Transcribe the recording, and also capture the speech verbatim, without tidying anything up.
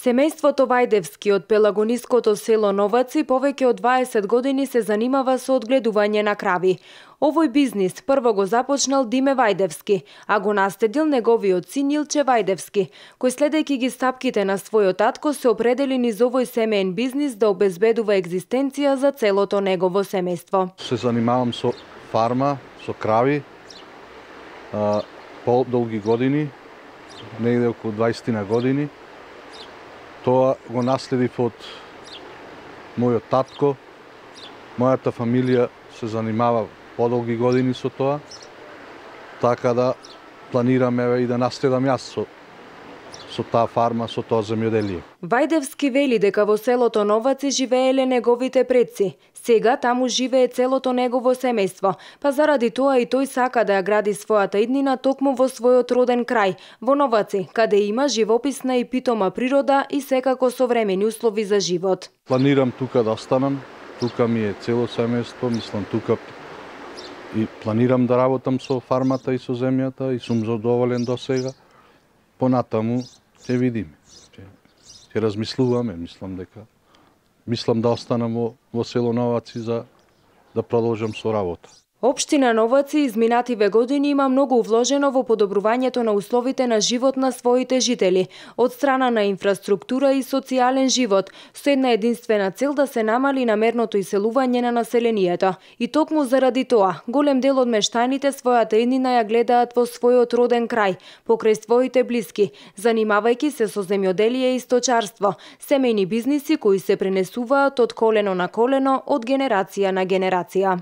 Семејството Вајдевски од пелагониското село Новаци повеќе од дваесет години се занимава со одгледување на крави. Овој бизнис прво го започнал Диме Вајдевски, а го наследил неговиот син Илче Вајдевски, кој следејќи ги стапките на својот татко се определи низ овој семеен бизнис да обезбедува екзистенција за целото негово семејство. Се занимавам со фарма, со крави, а, подолги години, негде околу дваесет години. Тоа го наследив од мојот татко. Мојата фамилија се занимава подолги години со тоа, така да планираме и да наследам јас со, со таа фарма, со тоа земјоделие. Вајдевски вели дека во селото Новаци живееле неговите предци. Сега таму живее целото негово семејство, па заради тоа и тој сака да ја гради својата иднина токму во својот роден крај, во Новаци, каде има живописна и питома природа и секако современи услови за живот. Планирам тука да останам, тука ми е цело семејство, мислам тука и планирам да работам со фармата и со земјата и сум задоволен до сега. Понатаму ќе видиме, ќе, ќе размислуваме, мислам дека Мислам да останам во, во село Новаци за да продолжам со работа. Општина Новаци изминативе години има многу вложено во подобрувањето на условите на живот на своите жители, од страна на инфраструктура и социјален живот, со една единствена цел да се намали намерното иселување на населението. И токму заради тоа, голем дел од мештаните својата иднина ја гледаат во својот роден крај, покрај своите блиски, занимавајќи се со земјоделие и сточарство, семејни бизниси кои се пренесуваат од колено на колено, од генерација на генерација.